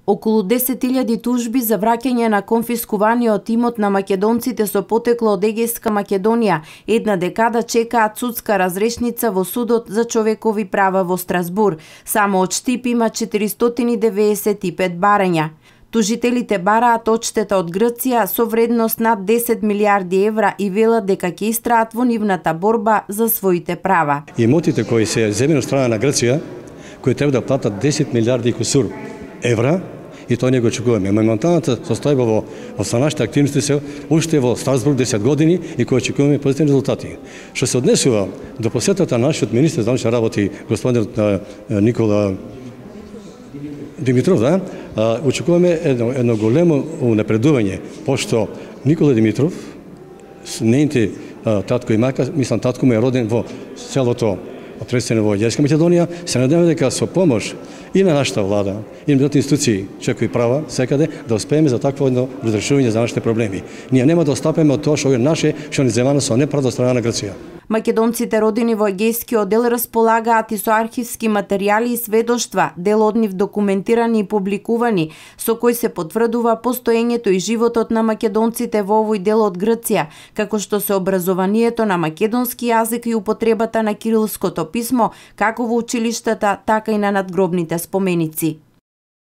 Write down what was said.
Околу 10.000 тужби за враќање на конфискуваниот имот на македонците со потекло од Егејска Македонија една декада чекаат судска разрешница во Судот за човекови права во Страсбур. Само од Штип има 495 барања. Тужителите бараат одштета од Грција со вредност над 10 милиарди евра и велат дека ќе истраат во нивната борба за своите права. Имотите кои се земени од страна на Грција, кои треба да платат 10 милиарди кусур евра, и тоа не го очекуваме. Моменталната состојба во нашите активности се уште во Страсбург 10 години и кој очекуваме позитивни резултати. Што се однесува до посетата на нашиот министер за внатрешни работи господин Никола Димитров, очекуваме едно големо напредување, пошто Никола Димитров, нејните татко и мајка, мислам татко му е роден во селото Отресено во Егејска Македонија, се надеваме дека со помош и на нашата влада, и на другите институции, човекови права, секаде, да успееме за такво едно разрешување за нашите проблеми. Ние нема да остапеме од тоа што е наше, што ни земано со неправда од страна на Грција. Македонците родени во Егејскиот дел располагаат и со архивски материјали и сведоштва, дел од нив документирани и публикувани, со кои се потврдува постоењето и животот на македонците во овој дел од Грција, како што се образованието на македонски јазик и употребата на кирилското писмо, како во училиштата, така и на надгробните споменици.